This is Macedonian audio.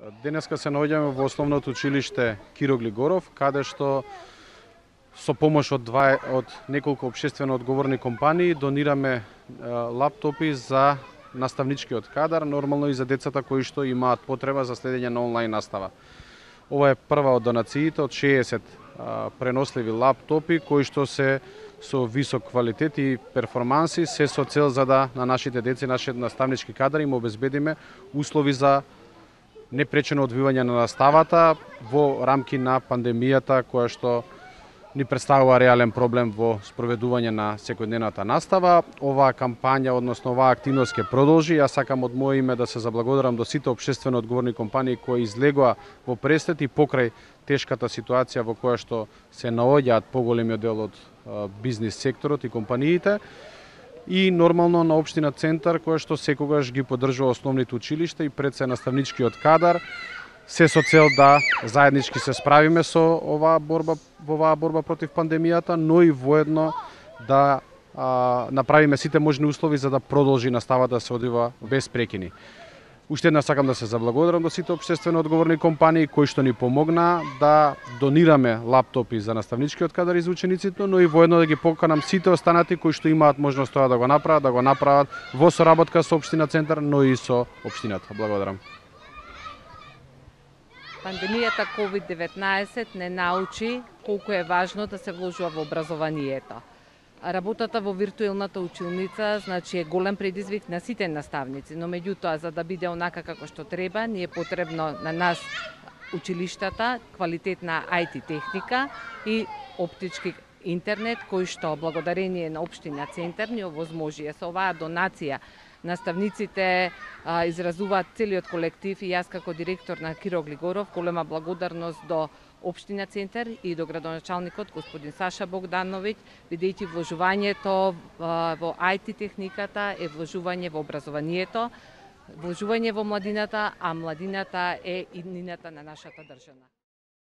Денеска се наоѓаме во основното училиште Киро Глигоров, каде што со помош од неколку општествено одговорни компании донираме лаптопи за наставничкиот кадар, нормално и за децата кои што имаат потреба за следење на онлайн настава. Ова е прва од донациите од 60 преносливи лаптопи кои што се со висок квалитет и перформанси, се со цел за да на нашите деца и нашиот наставнички кадар им обезбедиме услови за непречено одвивање на наставата во рамки на пандемијата која што ни представува реален проблем во спроведување на секојдневната настава. Оваа кампања, односно оваа активност ќе продолжи. Јас сакам од моје име да се заблагодарам до сите општествено одговорни компании кои излегоа во пресвет и покрај тешката ситуација во која што се наоѓаат поголемиот дел од бизнис секторот и компаниите. И нормално на општина Центар, која што секогаш ги поддржува основните училишта и пред се наставничкиот кадар, се со цел да заеднички се справиме со оваа борба против пандемијата, но и воедно да направиме сите можни услови за да продолжи наставата да се одвива без прекини. Уште една сакам да се заблагодарам до сите општествено одговорни компании кои што ни помогнаа да донираме лаптопи за наставничкиот кадар и за учениците, но и воедно да ги поканам сите останати кои што имаат можност тоа да го направат во соработка со општина Центар, но и со општината. Благодарам. Пандемијата COVID-19 не научи колку е важно да се вложува во образованието. Работата во виртуелната училница значи е голем предизвик на сите наставници, но меѓутоа за да биде онака како што треба, ни е потребно на нас училиштата квалитетна IT техника и оптички интернет кој што благодарение на општина Центар ни овозможија со оваа донација. Наставниците изразуваат целиот колектив и јас како директор на Киро Глигоров голема благодарност до општина Центар и до градоначалникот господин Саша Богдановиќ, бидејќи вложувањето во IT техниката е вложување во образованието, вложување во младината, а младината е иднината на нашата држава.